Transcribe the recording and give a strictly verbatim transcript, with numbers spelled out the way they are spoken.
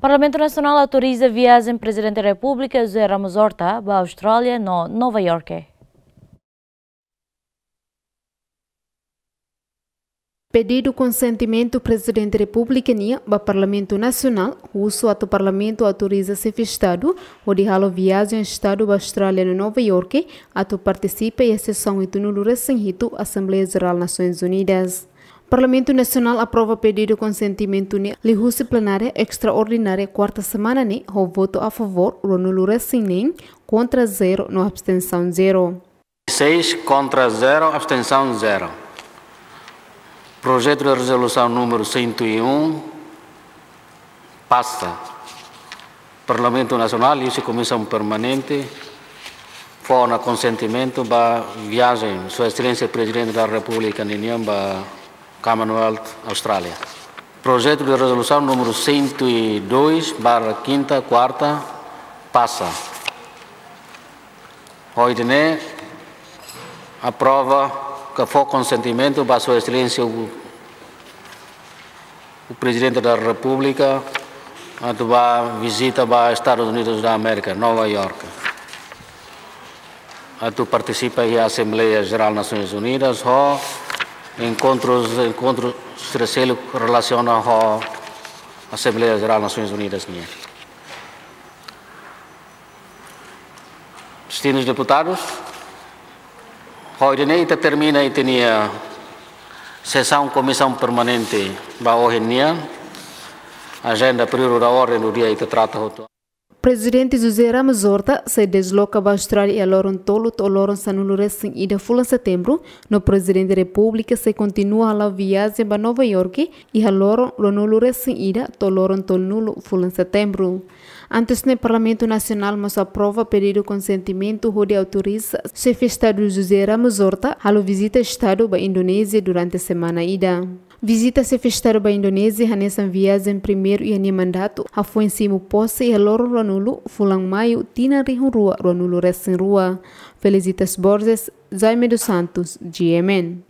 Parlamentu Nasionál autoriza viajen Prezidente Repúblika José Ramos Horta ba Austrália no Nova Iorke. Pedidu konsentimentu Prezidente Repúblika nian ba Parlamentu Nasionál husu atu Parlamentu autoriza Xefe Estadu hodi halo viajen Estadu ba Austrália no Nova Iorke atu partisipa iha sesaun hitunulu-resin-hitu Asembleia Jerál Nasoins Unidas. Parlamentu Nasionál aprova pedidu konsentimentu ne'e liuhusi plenária estraordinária kuarta semana ne'e ho votu a favór ruanulu-resin-neen, kontra zero no abstensaun zero. Seis kontra zero, abstensaun zero. Projetu de rezolusaun númeru cento e um pasa. Parlamentu Nasionál liuhusi Komisaun Permanente fó ona konsentimentu ba viajen Sua Exelénsia Prezidente da Repúblika ninian ba Commonwealth, Austrália. Projetu de rezolusaun númeru cento e dois barra quinta, quarta, pasa. Ho ida-ne'e aprova ka fó konsentimentu ba Sua Exelénsia o, o Prezidente da Repúblika atu ba vizita ba Estadus Unidus da Amérika, Nova Iorke, atu partisipa iha Asembleia Jerál Nasoins Unidas ho enkontrus, enkontru sira seluk relasiona ho Asembleia Jerál Nasoins Unidas nian. Distintus deputadus, ho ida-ne'e ita termina ita-nia sesaun Komisaun Permanente ba ohin nian. Ajenda, períodu da ordem do dia ita trata hotu. Prezidente José Ramos Horta sei desloka ba Austrália iha loron tolu to'o loron sanulu-resin-ida fulan Setembru, no Prezidente Repúblika sei kontinua hala'o viajen ba Nova Iorke iha loron ruanulu-resin-ida to'o loron tolunulu fulan Setembru. Antes ne'e Parlamentu Nasionál mós aprova pedidu konsentimentu hodi autoriza Xefe Estadu José Ramos Horta halo vizita Estadu ba Indonézia durante semana ida. Vizita Xefe Estadu ba Indonézia hanesan viajen primeiru iha nia mandatu, hafoin simu pose iha loron ruanulu fulan Maiu tinan rihun rua ruanulu-resin-rua. Felicitas Borges, Jaime dos Santos, G M N.